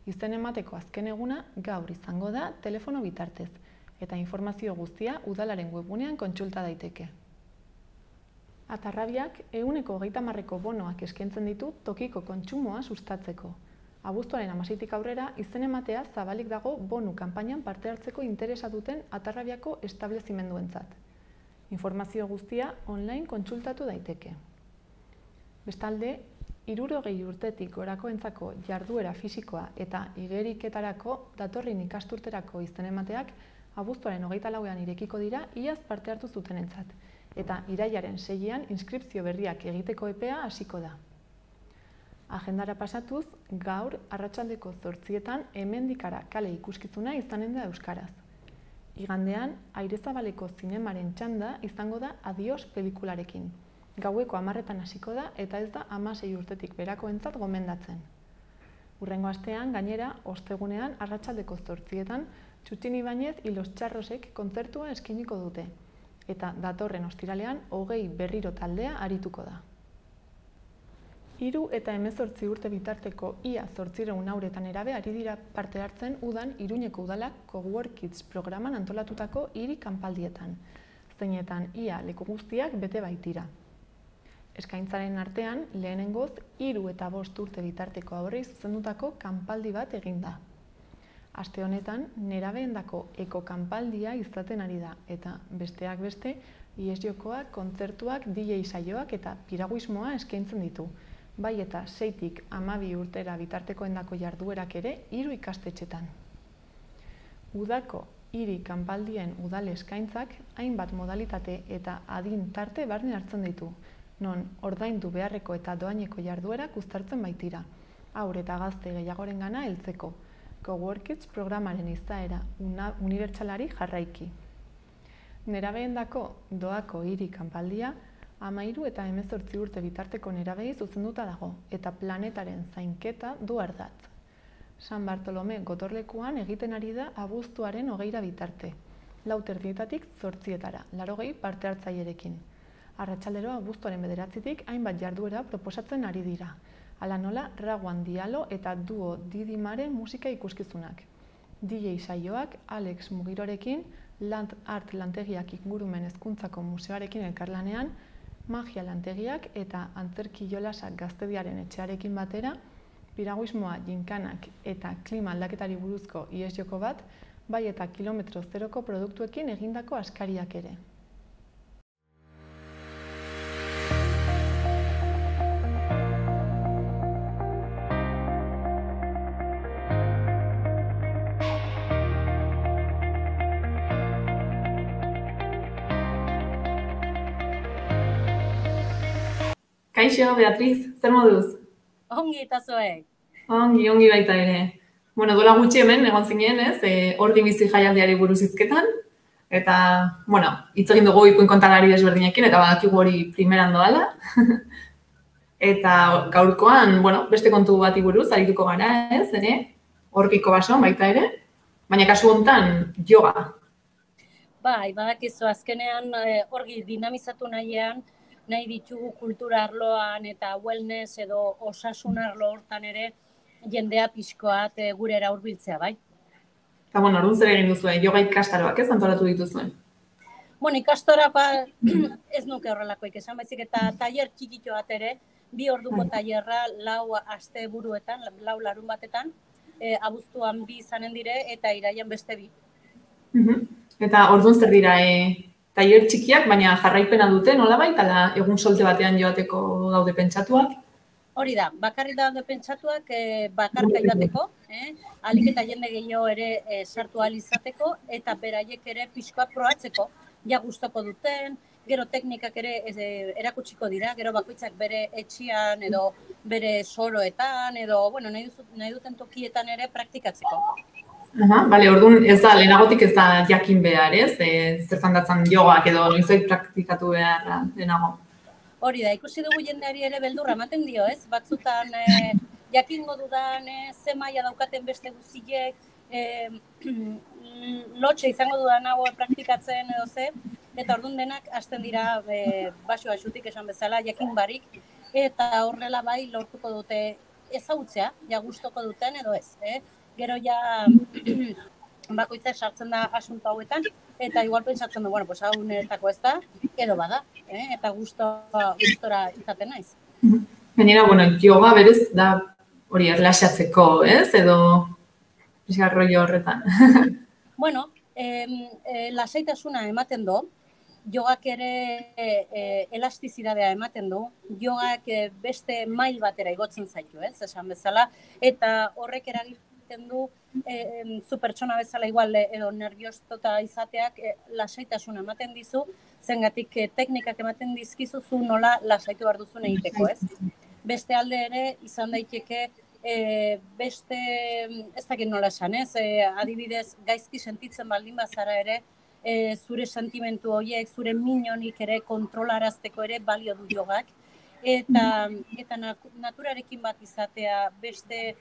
Izen emateko azken eguna gaur izango da telefono bitartez, eta informazio guztia udalaren webgunean kontsulta daiteke. Atarrabiak ehuneko hogeita hamarreko bonoak eskaintzen ditu tokiko kontsumoa sustatzeko. Abuztuaren hamaseitik aurrera, izen ematea zabalik dago bonu kanpainan parte hartzeko interesa duten Atarrabiako establezimenduentzat. Informazio guztia online kontsultatu daiteke. Bestalde, hirurogei urtetik gorakoentzako jarduera fisikoa eta igeriketarako datorren ikasturterako izen emateak abuztuaren hogeita lauean irekiko dira iaz parte hartu zutenentzat, eta irailaren seian inskripzio berriak egiteko epea hasiko da. Agendara pasatuz, gaur arratsaldeko zortzietan hemendikara kale ikuskizuna izanen da euskaraz. Igandean, Airezabaleko zinemaren txanda izango da Adios pelikularekin. Gaueko hamarretan hasiko da eta ez da hamasei urtetik berakoentzat gomendatzen. Hurrengo astean, gainera, ostegunean arratsaldeko zortzietan Txutxin Ibañez y los Txarrosek kontzertua eskainiko dute, eta datorren ostiralean hogei berriro taldea arituko da. Hiru eta hemezortzi urte bitarteko ia zortziehun hauretan erabe ari dira parte hartzen udan Iruñeko udalak Cowork Kids programan antolatutako hiri kanpaldietan, zeinetan ia leku guztiak bete baitira. Eskaintzaren artean, lehenengoz, hiru eta bost urte bitarteko haurrei zuzendutako kanpaldi bat egin da. Aste honetan, nerabeendako eko-kanpaldia izaten ari da, eta besteak beste, ihes-jokoak, kontzertuak, D J saioak eta piraguismoa eskaintzen ditu. Bai eta seitik hamabi urtera bitartekoendako jarduerak ere hiru ikastetxetan. Udako hiri kanpaldien udal eskaintzak hainbat modalitate eta adin tarte barne hartzen ditu, non ordaindu beharreko eta doaineko jarduerak uztartzen baitira, haur eta gazte gehiagorengana heltzeko, Cowork Kids programaren izaera unibertsalari jarraiki. Nerabeendako doako hiri kanpaldia hamairu eta hemezortzi urte bitarteko nerabei zuzenduta dago, eta planetaren zainketa du ardatz. San Bartolome gotorlekuan egiten ari da abuztuaren hogeira bitarte, lau terdietatik zortzietara, laurogei parte hartzailerekin. Arratsaldero abuztuaren bederatzitik hainbat jarduera proposatzen ari dira, hala nola Raguan Dialo eta Duo Didimare musika ikuskizunak. D J saioak Alex Mugirorekin, Land Art lantegiak ingurumen hezkuntzako museoarekin elkarlanean, magia lantegiak eta antzerki jolasak gaztediaren etxearekin batera, piraguismoa, jinkanak eta klima aldaketari buruzko ihes-joko bat, bai eta kilometro zeroko produktuekin egindako askariak ere. Kaixo, Beatriz, zer moduz? Ongi eta zoek. Ongi, ongi baita ere. Bueno, dola gutxi hemen, egon zinen, ez, e, Ordi bizi jaialdiari buruz hizketan, eta, bueno, hitz egin dugu ipuin kontalari desberdinekin, eta badakigu hori primeran doala. Eta gaurkoan, bueno, beste kontu bati buruz, arituko gara, ez, ere, Orgiko basoan baita ere, baina kasu honetan, yoga. Bai, badakizu azkenean Orgi dinamizatu nahian, nahi ditugu kultura arloan eta wellness edo osasun arlo hortan ere jendea pixkoat gurera hurbiltzea, bai? Eta, bueno, orduan zer egin duzuen, yoga ikastaroak ez antolatu dituzuen? Bueno, ikastaroak ez nuke horrelakoik esan, baizik eta tailer txikito bat ere, bi orduko tailerra lau aste buruetan, lau larun batetan, abuztuan bi izanen dire eta iraian beste bi. Eta orduan zer dira, tailer txikiak, baina jarraipena dute, nolabait, ala egun solte batean joateko daude pentsatuak? Hori da, bakarrik daude pentsatuak bakarka joateko, alik eta jende gehiago ere sartu ahal izateko, eta beraiek ere pixkoa probatzeko, ja gustoko duten, gero teknikak ere erakutsiko dira, gero bakoitzak bere etxean edo bere soroetan, edo bueno, nahi duten tokietan ere praktikatzeko. Aha, bale, orduan ez da, lehenagotik ez da jakin behar, ez? Zertan datzan jogak edo noizoik praktikatu behar lehenago. Hori da, ikusi dugu jendeari ere beldurra ematen dio, ez? Batzutan jakingo dudan ze maila daukaten beste guziek, lotxe izango dudan hau praktikatzen edo ze, eta orduan denak hasten dira baso basutik esan bezala, jakin barik, eta horrela bai lortuko dute ezagutzea, ja gustoko duten edo ez, eh? Gero ja bakoitzak sartzen da asunto hauetan, eta igual pentsatzen du, bueno, pues hau niretako ez da, edo bada, eh? Eta gustora izaten naiz. Gainera, bueno, yoga berez da hori erlaxatzeko, ez? Edo pixka rollo horretan. Bueno, eh, lasaitasuna ematen do, jogak ere e, elastizidadea ematen du, jogak e, beste mail batera igotzen zaitu, ez, esan bezala, eta horrek eragiten du e, zu pertsona bezala igual edo nerviostota izateak e, lasaitasuna ematen dizu, zengatik e, teknikak ematen dizkizu zu nola lasaitu behar duzun egiteko, ez? Beste alde ere izan daiteke e, beste, ez dakit nola esan, ez? E, adibidez, gaizki sentitzen baldin bazara ere, e, zure sentimentu horiek, zure minonik ere kontrolarazteko ere balio du jogak. Eta, eta naturarekin bat izatea, beste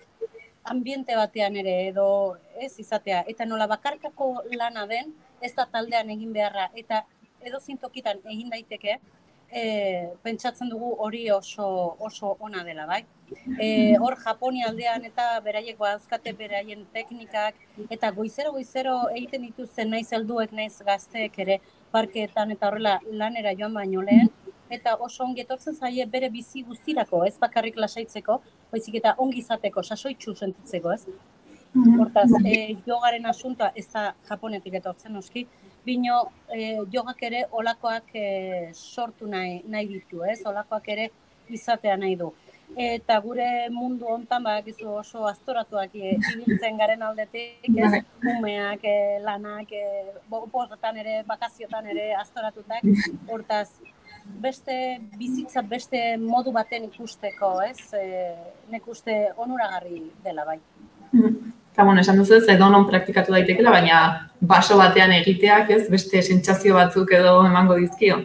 ambiente batean ere edo ez izatea. Eta nola bakarkako lana den, ez da taldean egin beharra. Eta edo zintokitan egin daiteke, e, pentsatzen dugu hori oso, oso ona dela, bai? E, hor Japonia aldean eta beraiek badazkate beraien teknikak eta goizero goizero egiten dituzten naiz helduek naiz gazteek ere parkeetan eta horrela lanera joan baino lehen eta oso ongi etortzen zaie bere bizi guztirako, ez bakarrik lasaitzeko, baizik eta ongi izateko, sasoitsu sentitzeko, ez? Hortaz, e, jogaren asuntoa ez da Japonetik etortzen noski, bino e, jogak ere olakoak e, sortu nahi, nahi ditu, ez? Olakoak ere izatea nahi du. Eta gure mundu hontan badakizu oso aztoratuak ibiltzen garen aldetik, ez? Umeak, lanak, oporretan ere, bakaziotan ere aztoratutak, hortaz, beste bizitza, beste modu baten ikusteko, ez? E, nek uste onuragarri dela, bai. Eta, bueno, esan duzu ez, edo non praktikatu daitekela, baina baso batean egiteak, ez? Beste sentsazio batzuk edo emango dizkio.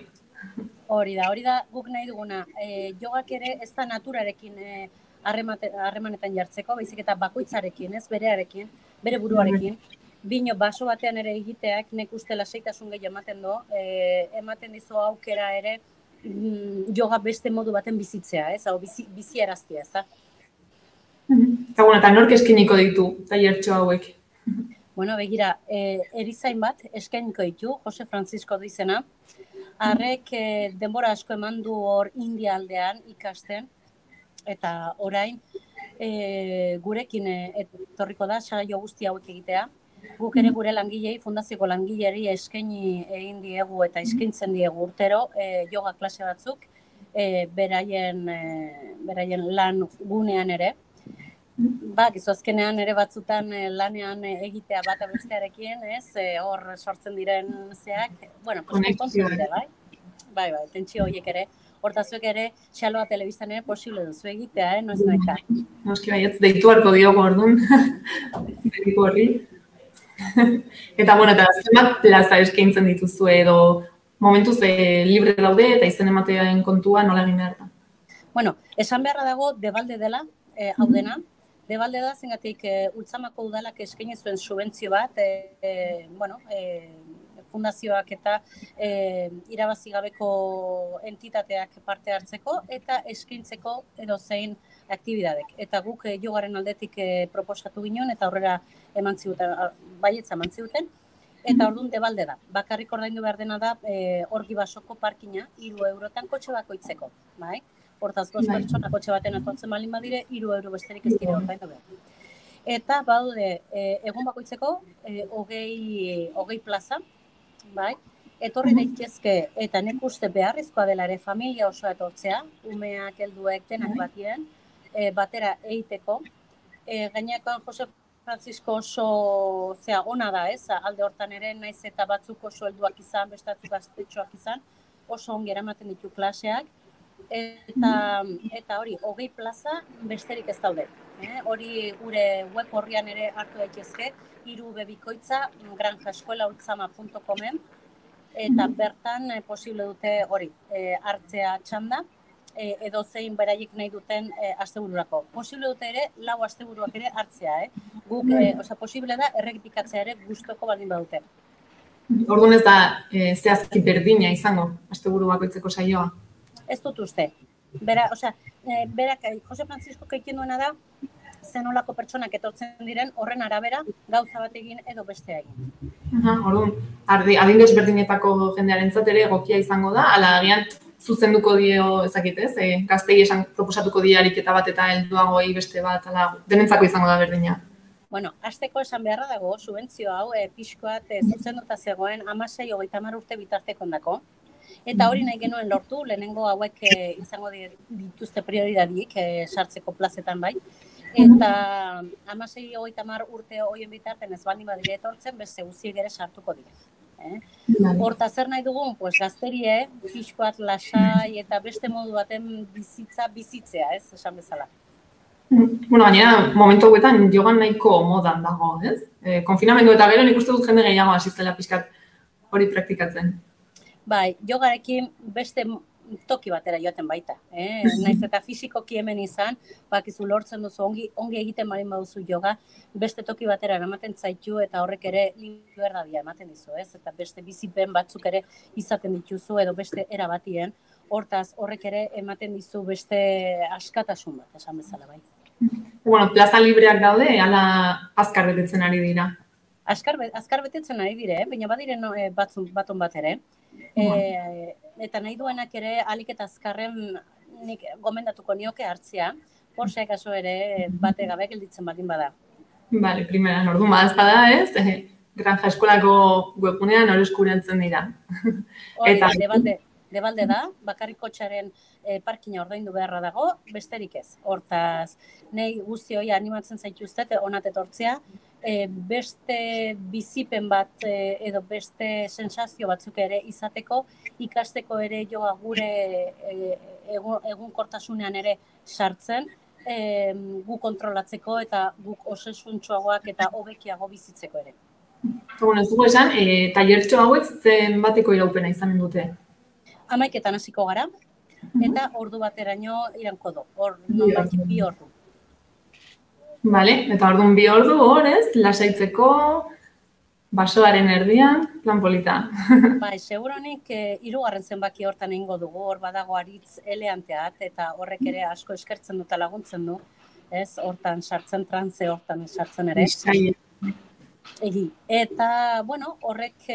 Hori da, hori da guk nahi duguna. E, jogak ere ez da naturarekin e, harremanetan jartzeko, baizik eta bakoitzarekin, ez berearekin, bere buruarekin. Bino baso batean ere egiteak nek uste lasaitasun gehi ematen du, e, ematen dizu aukera ere mm, joga beste modu baten bizitzea, ez? Hau bizi, bizi eraztia, ez da? Eta, bueno, eta nork eskeniko ditu, tailertxo hauek? Bueno, begira, e, erizain bat eskainiko ditu, Jose Francisco du izena. Harrek e, denbora asko eman du hor India aldean ikasten, eta orain e, gurekin e, etorriko da, saio guzti hauek egitea. Guk ere gure langilei, fundazioko langileri eskaini egin diegu eta eskaintzen diegu urtero e, yoga klase batzuk, e, beraien, e, beraien lan gunean ere. Ba, gizu azkenean ere batzutan lanean egitea bat bestearekin, ez? E, hor sortzen diren zeak, bueno, konpontzen dira, bai? Bai, bai, tentsio horiek ere. Hortazuek ere, xaloa telebistan ere posible duzu egitea, eh? Noiz naika. Noski bai, ez deitu harko diogo orduan. Deitu horri. Eta, bueno, eta zenbat plaza eskaintzen dituzu edo momentuz e, libre daude eta izen ematean kontua nola egin behar da? Bueno, esan beharra dago debalde dela, e, hau dena. Debalde da, zengatik, e, Ultzamako udalak eskaini zuen subentzio bat, e, e, bueno, e, fundazioak eta e, irabazi gabeko entitateak parte hartzeko eta eskaintzeko edo zein aktibidadek. Eta guk e, jogaren aldetik e, proposatu ginen eta aurrera eman ziguten, baietza eman ziguten. Eta orduan debalde da. Bakarrik ordaindu behar dena da e, Orgi Basoko parkina, hiru eurotan kotxe bakoitzeko, bai? Hortaz, bost pertsona kotxe baten atortzen balin badire, hiru euro besterik ez dire ordaindu behar. Eta badaude e, egun bakoitzeko e, hogei, hogei plaza, bai? Etorri daitezke eta nek uste beharrezkoa dela ere familia osoa etortzea, umeak, helduek, denak batien, e, batera egiteko. E, Gainekoan Jose Francisco oso zea ona da, ez? Alde hortan ere naiz eta batzuk oso helduak izan, bestatzuk gaztetxoak izan, oso ongi eramaten ditu klaseak. Eta, eta hori, hogei plaza besterik ez daude. Eh? Hori gure web horrian ere hartu daitezke, hiru bebikoitza granja eskuela ultzama puntu comen eta bertan eh, posible dute hori, eh, hartzea txanda, eh, edo zein beraiek nahi duten eh, astebururako. Posible dute ere, lau asteburuak ere hartzea, eh? Guk, eh, osea, posible da errepikatzea ere gustoko baldin badute. Orduan ez da e, zehazki berdina izango, asteburu bakoitzeko saioa? Ez dut uste. Bera, osea, e, berak, Jose Francisco egiten duena da, zenolako pertsonak etortzen diren, horren arabera, gauza bat egin edo bestea egin. Aha, orduan, adin desberdinetako jendearentzat ere egokia izango da, ala agian zuzenduko dio ezakitez, e, gaztei esan proposatuko die ariketa bat eta helduagoei beste bat, ala denentzako izango da berdina. Bueno, hasteko esan beharra dago, subentzio hau e, pixkoat e, zuzenduta zegoen hamasei hogeita hamar urte bitartekondako. Eta hori nahi genuen lortu, lehenengo hauek e, izango dituzte prioridadik e, sartzeko plazetan bai. Eta hamasei hogeita hamar urte horien bitarten ez baldin badire etortzen, beste guztiek ere sartuko dira. Eh? Horta zer nahi dugun, pues, gazterie, pixkoat lasai eta beste modu baten bizitza bizitzea, ez, esan bezala. Bueno, gainera, momentu hauetan jogan nahiko modan dago, ez? E, konfinamendu eta gero nik uste dut jende gehiago asistela pixkat hori praktikatzen. Bai, jogarekin beste toki batera joaten baita. Eh? Naiz eta fisikoki hemen izan, bakizu lortzen duzu, ongi, ongi egiten balin baduzu joga, beste toki batera ematen zaitu eta horrek ere liberdadia ematen dizu, ez? Eta beste bizipen batzuk ere izaten dituzu edo beste era batien, hortaz horrek ere ematen dizu beste askatasun bat, esan bezala bai. Bueno, plaza libreak daude, ala azkar betetzen ari dira. Azkar, azkar betetzen ari dire, baina badire no, e, batzun, baton bat ere. E, eta nahi duenak ere alik eta azkarren nik gomendatuko nioke hartzea, porxeak aso ere bate gabe gelditzen baldin bada. Bale, primeran, orduan badazpada ez, eh, Granja Eskolako webgunean hori eskuratzen dira. Eta debalde, debalde da, bakarrik kotxaren e, parkina ordaindu beharra dago, besterik ez. Hortaz, nahi guzti hori animatzen zaituztet, onat etortzea, e, beste bizipen bat e, edo beste sensazio batzuk ere izateko, ikasteko ere joa gure e, egun, egunkortasunean ere sartzen, e, gu kontrolatzeko eta guk osesuntxoagoak eta hobekiago bizitzeko ere. Bueno, ez dugu esan, e, tailertxo hauek zen bateko iraupena izanen dute? Hamaiketan hasiko gara, eta ordu bateraino iranko du, hor nonbait bi ordu. Vale, eta orduan bi ordu hor ez, lasaitzeko, basoaren erdian, plan polita. Bai, seguronik e, hirugarren zenbaki hortan egingo dugu, hor badago aritz eleanteat, eta horrek ere asko eskertzen dut laguntzen du, ez, hortan sartzen trantze, hortan sartzen ere. Egi. Eta, bueno, horrek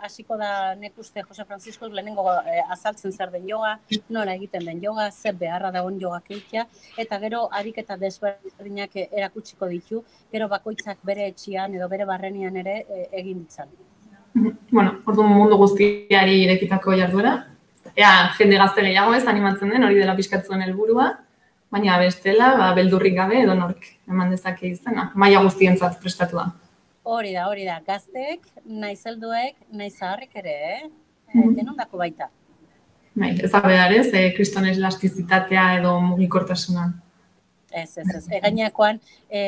hasiko e, da nek uste Jose Francisco lehenengo e, azaltzen zer den joga, nola egiten den joga, zer beharra dagoen jogak egitea, eta gero ariketa desberdinak erakutsiko ditu, gero bakoitzak bere etxian edo bere barrenian ere e, egin ditzan. Bueno, orduan mundu guztiari irekitako jarduera. Ea, jende gazte gehiago ez animatzen den, hori dela pixkatzuen helburua, baina bestela, ba, beldurrik gabe edo nork eman dezake izena, maila guztientzat prestatua. Hori da, hori da, gazteek, naiz helduek, naiz zaharrek ere, eh? Mm-hmm. Denondako baita. Bai, ez da behar ez, eh, kriston elastizitatea edo mugikortasuna. Ez, ez, ez. E, gainakoan, e,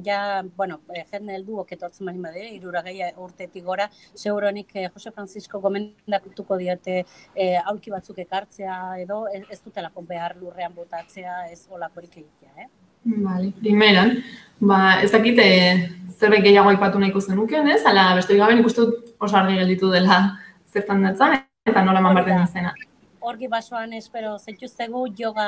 ja, bueno, e, jende helduok etortzen bali badire, hirurogei urtetik gora, seguronik e, Jose Francisco gomendatuko diote e, aulki batzuk ekartzea edo ez, ez dutelako behar lurrean botatzea, ez olakorik egitea, eh? Vale, primeran, ba, ez dakit zerbait gehiago aipatu nahiko zenuken, ez? Ala, besterik gabe nik uste dut oso argi gelditu dela zertan datzan, eta nola eman behar den izena. Horgi basoan espero zaituztegu yoga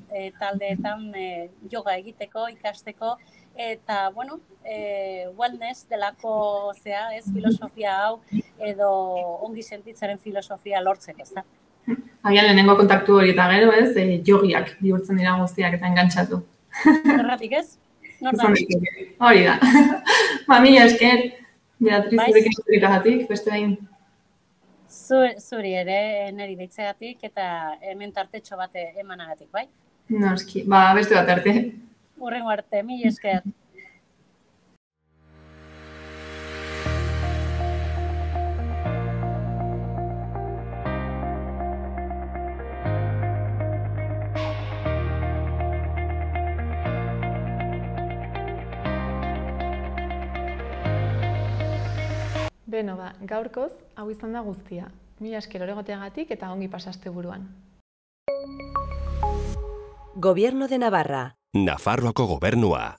e, taldeetan e, yoga egiteko, ikasteko, eta, bueno, e, wellness delako zea, ez, filosofia hau, edo ongi sentitzaren filosofia lortzeko, ez da? Agian lehenengo kontaktu hori eta gero, ez, e, jogiak bihurtzen dira guztiak eta engantzatu. Erratik ez? Nortan? Hori da. Ba, mila esker, Beatriz, zurekin zurik beste behin. Zuri ere, niri deitzegatik eta hemen tartetxo bat emanagatik, bai? Noski, ba, beste bat arte. Hurrengo arte, mila esker. Beno ba, gaurkoz, hau izan da guztia. Mila esker oregoteagatik eta ongi pasaste buruan. Gobierno de Navarra. Nafarroako gobernua.